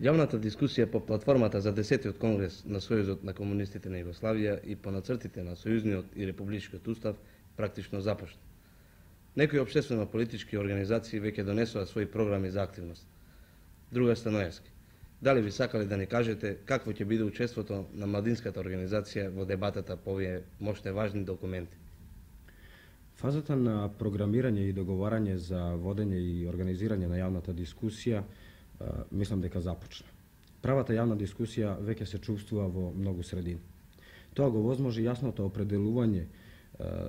Јавната дискусија по платформата за 10-тиот конгрес на Сојузот на комунистите на Југославија и по нацртите на Сојузниот и Републичкиот устав практично започна. Некои општествено-политички организации веќе донесоа своји програми за активност. Друга Станоевски, дали би сакале да ни кажете какво ќе биде учеството на младинската организација во дебатата по овие моште важни документи? Фазата на програмирање и договарање за водење и организирање на јавната дискусија мислам дека започна. Правата јавна дискусија веќе се чувствува во многу средини. Тоа го возможи јасното определување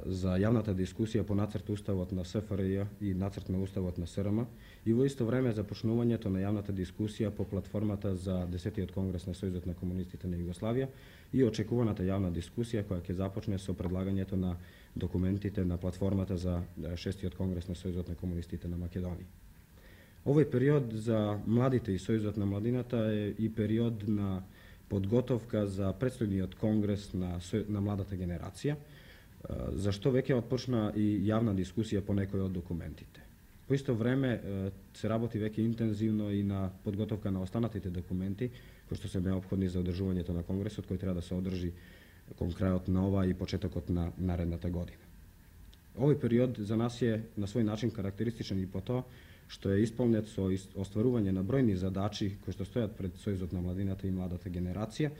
за јавната дискусија по нацрт уставот на СФРЈ и нацрт на уставот на СРМ и во исто време започнувањето на јавната дискусија по платформата за 10-тиот конгрес на Сојузот на комунистите на Југославија и очекуваната јавна дискусија која ќе започне со предлагањето на документите на платформата за 6-тиот конгрес на Сојузот на комунистите на Македонија. Овој период за младите и Сојузот на младината е и период на подготовка за претстојниот конгрес на младата генерација, зашто веќе отпочна и јавна дискусија по некои од документите. По исто време се работи веќе интензивно и на подготовка на останатите документи кои што се неопходни за одржувањето на конгресот кој треба да се одржи кон крајот на ова и почетокот на наредната година. Овој период за нас е на свој начин карактеристичен и по тоа што е исполнет со остварување на бројни задачи кои што стојат пред Сојузот на младината и младата генерација,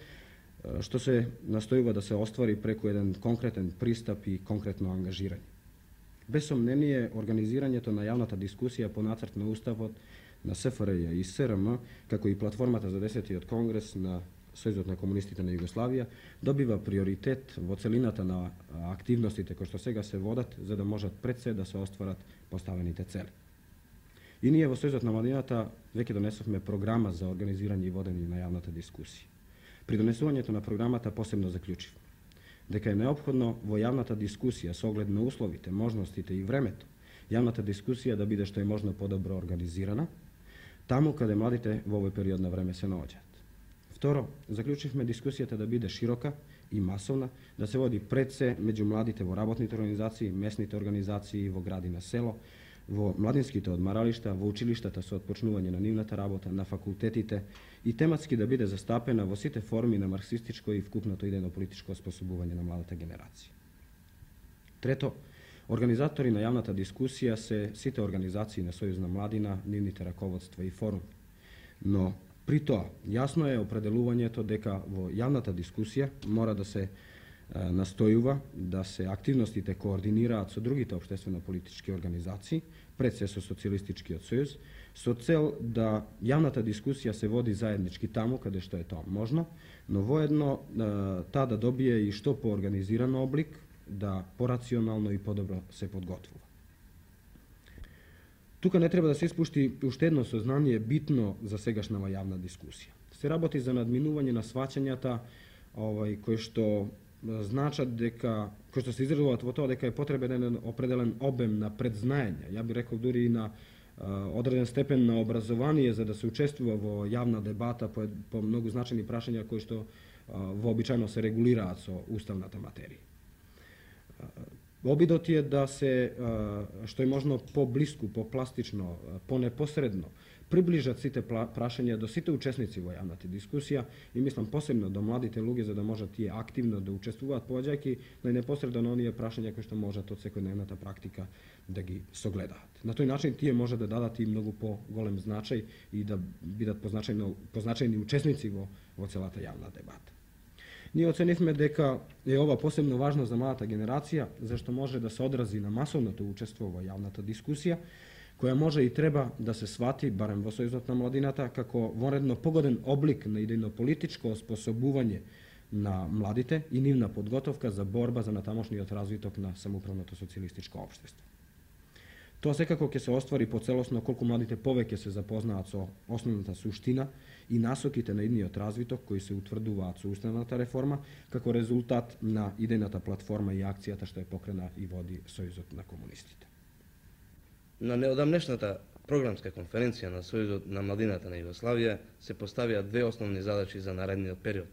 што се настојува да се оствари преку еден конкретен пристап и конкретно ангажирање. Без сомнение, организирањето на јавната дискусија по нацрт на уставот на СФРЈ и СРМ, како и платформата за 10-тиот конгрес на Сојузот на комунистите на Југославија, добива приоритет во целината на активностите кои што сега се водат за да можат пред се да се остварат поставените цели. И ние во Сојузот на младината веќе донесовме програма за организирање и водење на јавната дискусија. При донесувањето на програмата посебно заклучивме дека е неопходно во јавната дискусија со оглед на условите, можностите и времето, јавната дискусија да биде што е можно подобро организирана, таму каде младите во овој период на време се наоѓаат. Второ, заклучивме дискусијата да биде широка и масовна, да се води пред се меѓу младите во работните организации, местните организации во гради на село, во младинските одмаралишта, во училиштата со отпочнување на нивната работа, на факултетите и тематски да биде застапена во сите форми на марксистичко и вкупното идејно-политичко оспособување на младата генерација. Трето, организатори на јавната дискусија се сите организации на Сојуз на младина, нивните раководства и форуми. Но при тоа, јасно е определувањето дека во јавната дискусија мора да се настојува да се активностите координираат со другите општествено-политички организации, пред се со Социјалистичкиот сојуз, со цел да јавната дискусија се води заеднички таму каде што е тоа можно, но воедно таа да добие и што поорганизиран облик, да порационално и подобро се подготвува. Тука не треба да се испушти уште едно сознание битно за сегашнава јавна дискусија. Се работи за надминување на сваќањата кои што значат дека, кои што се изразуваат во тоа дека е потребен еден определен обем на предзнаење, ја би рекол дури и на одреден степен на образование за да се учествува во јавна дебата по многу значајни прашања кои што вообичајно се регулираат со уставната материја. Обидот е да се што е можно поблиску, попластично, понепосредно приближат сите прашања до сите учесници во јавната дискусија и мислам посебно до младите луѓе за да можат тие активно да учествуваат, поаѓајќи најнепосредно на оние прашања кои што можат од секојдневната практика да ги согледаат. На тој начин тие може да дадат и многу поголем значај и да бидат позначајни учесници во целата јавна дебата. Ние оценивме дека е ова посебно важно за младата генерација, зашто може да се одрази на масовното учество во јавната дискусија, која може и треба да се свати, барем во Сојузот на младината, како вонредно погоден облик на идејно-политичко оспособување на младите и нивна подготовка за борба за натамошниот развиток на самоуправното социјалистичко општество. Тоа секако ќе се оствари поцелосно колку младите повеќе се запознаат со основната суштина и насоките на идниот развиток кои се утврдуваат со уставната реформа како резултат на идејната платформа и акцијата што е покрена и води Сојузот на комунистите. На неодамнешната програмска конференција на Сојузот на младината на Југославија се поставија две основни задачи за наредниот период.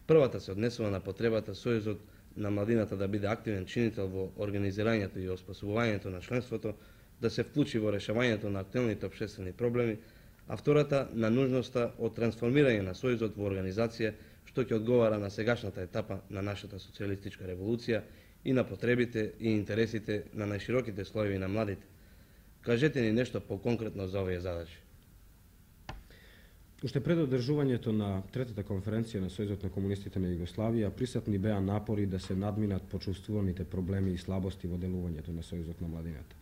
Првата се однесува на потребата Сојузот на младината да биде активен чинител во организирањето и оспособувањето на членството, да се вклучи во решавањето на актуелните општествени проблеми, а втората на нужноста од трансформирање на Сојузот во организација што ќе одговара на сегашната етапа на нашата социјалистичка револуција и на потребите и интересите на најшироките слоеви на младите. Кажете ни нешто поконкретно за овие задачи. Уште пред одржувањето на третата конференција на Сојузот на комунистите на Југославија, присутни беа напори да се надминат почувствуваните проблеми и слабости во делувањето на Сојузот на младината.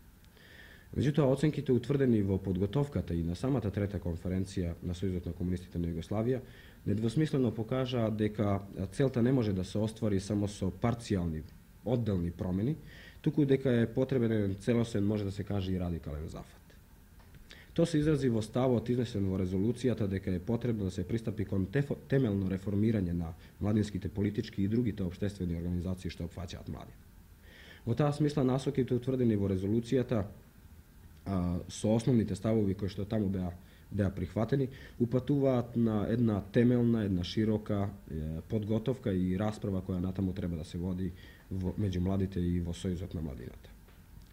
Меѓутоа, оценките утврдени во подготовката и на самата трета конференција на Сојузот на комунистите на Југославија недвосмислено покажаа дека целта не може да се оствари само со парцијални, одделни промени, туку дека е потребен целосен, може да се каже, и радикален зафат. Тоа се изрази во ставот изнесен во резолуцијата дека е потребно да се пристапи кон темелно реформирање на младинските политички и другите општествени организации што опфаќаат млади. Во таа смисла насоките утврдени во резолуцијата со основните ставови кои што таму беа прихватени, упатуваат на една темелна, една широка подготовка и расправа која натаму треба да се води меѓу младите и во Сојузот на младината.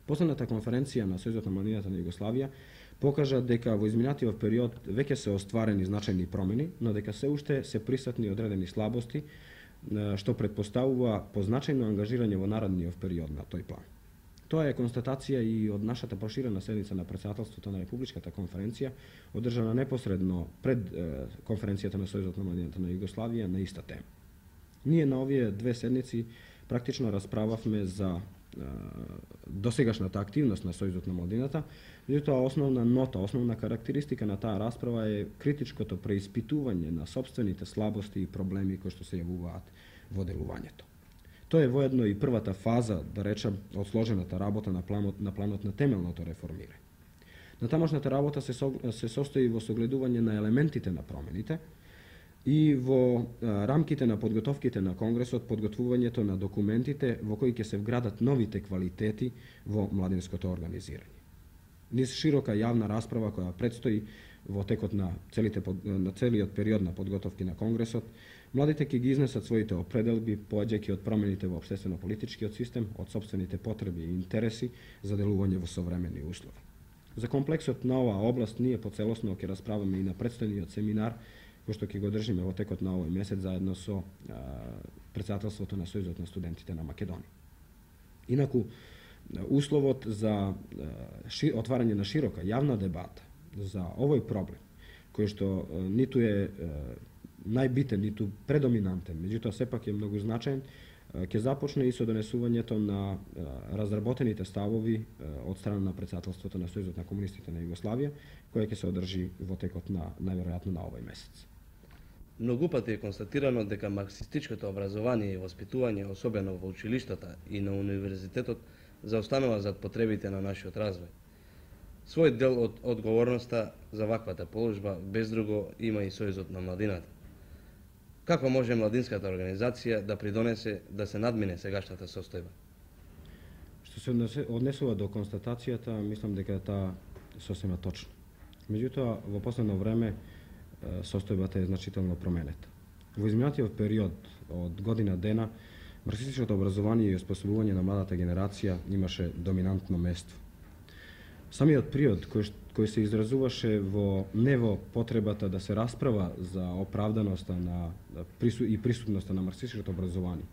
Последната конференција на Сојузот на младината на Југославија покажа дека во изминатиот период веќе се остварени значајни промени, но дека се уште се присутни одредени слабости, што предпоставува позначајно ангажирање во наредниот период на тој план. Тоа е констатација и од нашата проширена седница на претседателството на Републичката конференција, одржана непосредно пред конференцијата на Сојузот на младината на Југославија на иста тема. Ние на овие две седници практично расправавме за досегашната активност на Сојузот на младината, меѓутоа основна нота, основна карактеристика на таа расправа е критичкото преиспитување на сопствените слабости и проблеми кои што се јавуваат во делувањето. Тоа е воедно и првата фаза, да речем, од сложената работа на планот на темелното реформирање. Натамошната работа се состои во согледување на елементите на промените и во рамките на подготовките на Конгресот, подготвувањето на документите во кои ќе се вградат новите квалитети во младинското организирање. Низ широка јавна расправа која предстои во текот на целиот период на подготовки на Конгресот, младите ќе ги изнесат своите определби, поаѓајќи од промените во општествено-политичкиот систем, од сопствените потреби и интереси за делување во современи услови. За комплексот на оваа област ние поцелосно ќе расправаме и на претстојниот семинар кој што ќе го држиме во текот на овој месец заедно со претседателството на Сојузот на студентите на Македонија. Инаку, условот за отварање на широка јавна дебата за овој проблем, кој што ниту е најбитен, ниту предоминантен, меѓутоа сепак е многу значаен, ќе започне и со донесувањето на разработените ставови од страна на претседателството на Сојузот на комунистите на Југославија, која ќе се одржи во текот на најверојатно на овој месец. Многу пати е констатирано дека марксистичкото образование и воспитување, особено во училиштата и на универзитетот, заостанува зад потребите на нашиот развој. Свој дел од одговорноста за ваквата положба без друго има и Сојузот на младината. Како може младинската организација да придонесе да се надмине сегашната состојба? Што се однесува до констатацијата, мислам дека таа сосема точна. Меѓутоа, во последно време состојбата е значително променета. Во изминатиот период од година дена, марксистичкото образование и оспособување на младата генерација имаше доминантно место. Самиот период кој се изразуваше не во потребата да се расправа за оправданоста и присутноста на марксистичкото образование,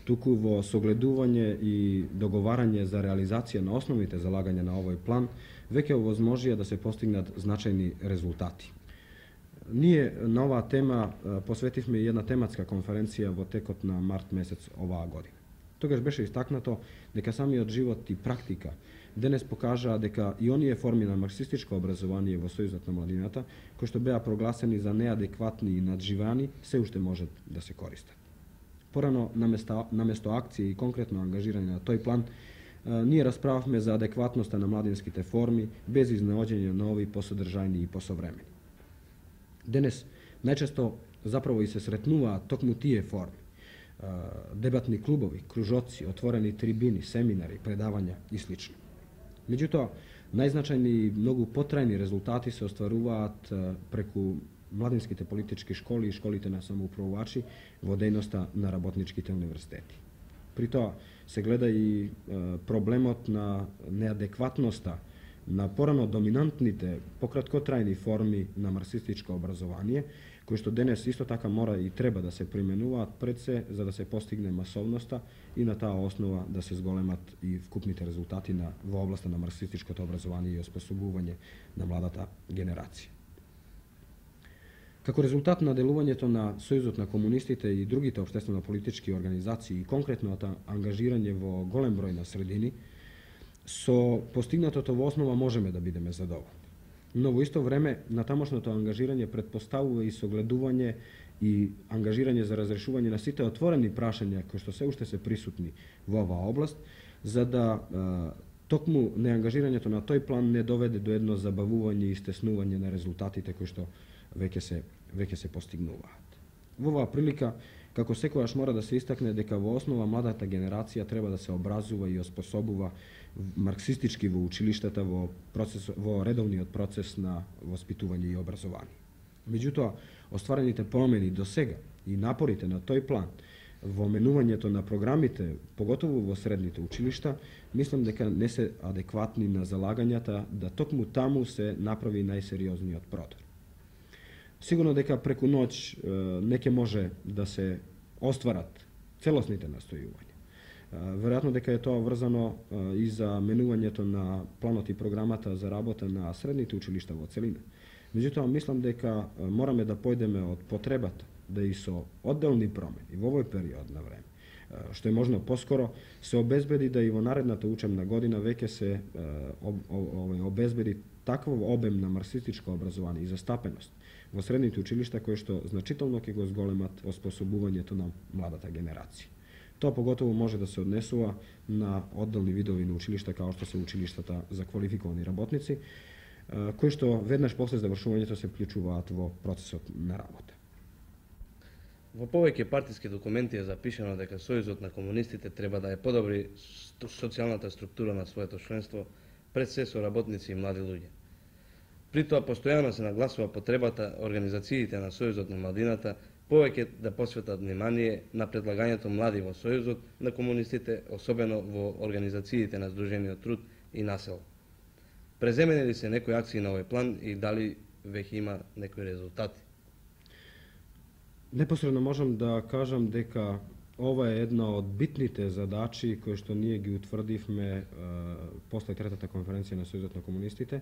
туку во согледување и договарање за реализација на основните залагања на овој план, веќе овозможија да се постигнат значајни резултати. Ние на оваа тема посветивме една тематска конференција во текот на март месец оваа година. Тогаш беше истакнато дека самиот живот и практика денес покажаа дека и оние форми на марксистичко образование во Сојузот на младината, кои што беа прогласени за неадекватни и надживани, се уште можат да се користат. Порано, наместо акција и конкретно ангажирање на тој план, ние расправавме за адекватноста на младинските форми, без изнаоѓање нови, посодржајни и посовремени. Денес најчесто заправо и се сретнуваат токму тие форми. Дебатни клубови, кружоци, отворени трибини, семинари, предавања и слично. Меѓутоа, најзначајни и многу потрајни резултати се остваруваат преку младинските политички школи и школите на самоуправувачи во дејноста на работничките универзитети. При тоа се гледа и проблемот на неадекватноста на порано доминантните, пократкотрајни форми на марксистичко образование, кои што денес исто така мора и треба да се применуваат пред се за да се постигне масовноста и на таа основа да се зголемат и вкупните резултати во областа на марксистичкото образование и оспособување на младата генерација. Како резултат на делувањето на Сојузот на комунистите и другите општествено-политички организации и конкретното ангажирање во голем број на средини, со постигнатото во основа можеме да бидеме задоволни. Но во исто време, натамошното ангажирање предпоставува и согледување и ангажирање за разрешување на сите отворени прашања кои што се уште се присутни во оваа област, за да токму неангажирањето на тој план не доведе до едно забавување и стеснување на резултатите кои што веќе се постигнуваат. Во оваа прилика, како секогаш мора да се истакне дека во основа младата генерација треба да се образува и оспособува марксистички во училиштата во редовниот процес на воспитување и образование. Меѓутоа, остварените промени до сега и напорите на тој план во менувањето на програмите, поготово во средните училишта, мислам дека не се адекватни на залагањата да токму таму се направи најсериозниот продор. Сигурно дека преку ноќ не ќе може да се остварат целосните настојувања. Веројатно дека е тоа врзано и за менувањето на планот и програмата за работа на средните училишта во целина. Меѓутоа, мислам дека мораме да појдеме од потребата да и со одделни промени во овој период на време, што е можно поскоро, се обезбеди да и во наредната учебна година веќе се обезбеди таков обем на марксистичко образование и застапеност во средните училишта кои што значително ќе го зголемат оспособувањето на младата генерација. Тоа поготово може да се однесува на одделни видови на училишта како што се училиштата за квалификовани работници, кои што веднаш после завршувањето се вклучуваат во процесот на работа. Во повеќе партиски документи е запишано дека Сојузот на комунистите треба да ја подобри социјалната структура на своето членство, пред се со работници и млади луѓе. При тоа постојано се нагласува потребата организациите на Сојузот на младината повеќе да посветат внимание на предлагањето млади во Сојузот на комунистите, особено во организациите на Сдружениот труд и Насел. Преземени ли се некои акции на овој план и дали веќе има некои резултати? Непосредно можам да кажам дека ова е една од битните задачи кои што ние ги утврдивме после третата конференција на Сојузот на комунистите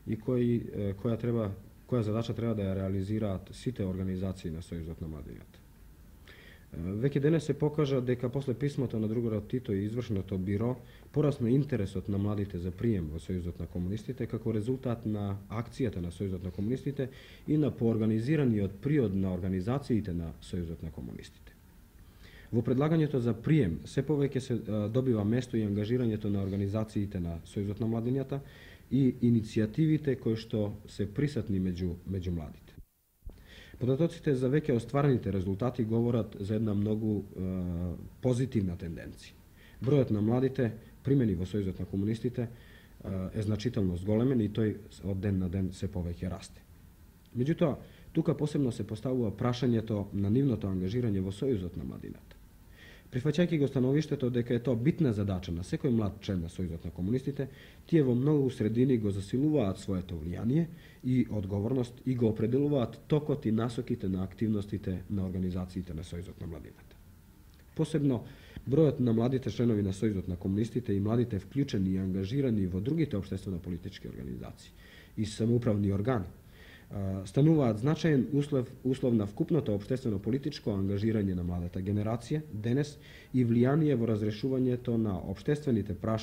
и која задача треба да ја реализираат сите организации на Сојузот на младината. Веќе денес се покажа дека после писмото на другарот Тито и извршното биро порасна интересот на младите за прием во Сојузот на комунистите како резултат на акцијата на Сојузот на комунистите и на поорганизираниот приод на организациите на Сојузот на комунистите. Во предлагањето за прием се повеќе се добива место и ангажирањето на организациите на Сојузот на младината и иницијативите кои што се присутни меѓу младите. Податоците за веќе остварените резултати говорат за една многу позитивна тенденција. Бројот на младите примени во Сојузот на комунистите е значително зголемен и тој од ден на ден се повеќе расте. Меѓутоа, тука посебно се поставува прашањето на нивното ангажирање во Сојузот на младината. Прифаќајќи го становиштето дека е тоа битна задача на секој млад член на Сојузот на комунистите, тие во многу средини го засилуваат своето влијание и одговорност и го определуваат токот и насоките на активностите на организациите на Сојузот на младината. Посебно, бројот на младите членови на Сојузот на комунистите и младите вклучени и ангажирани во другите општествено-политички организации и самоуправни органи стануваат значаен услов на вкупното општествено-политичко ангажирање на младата генерација денес и влијание во разрешувањето на општествените прашања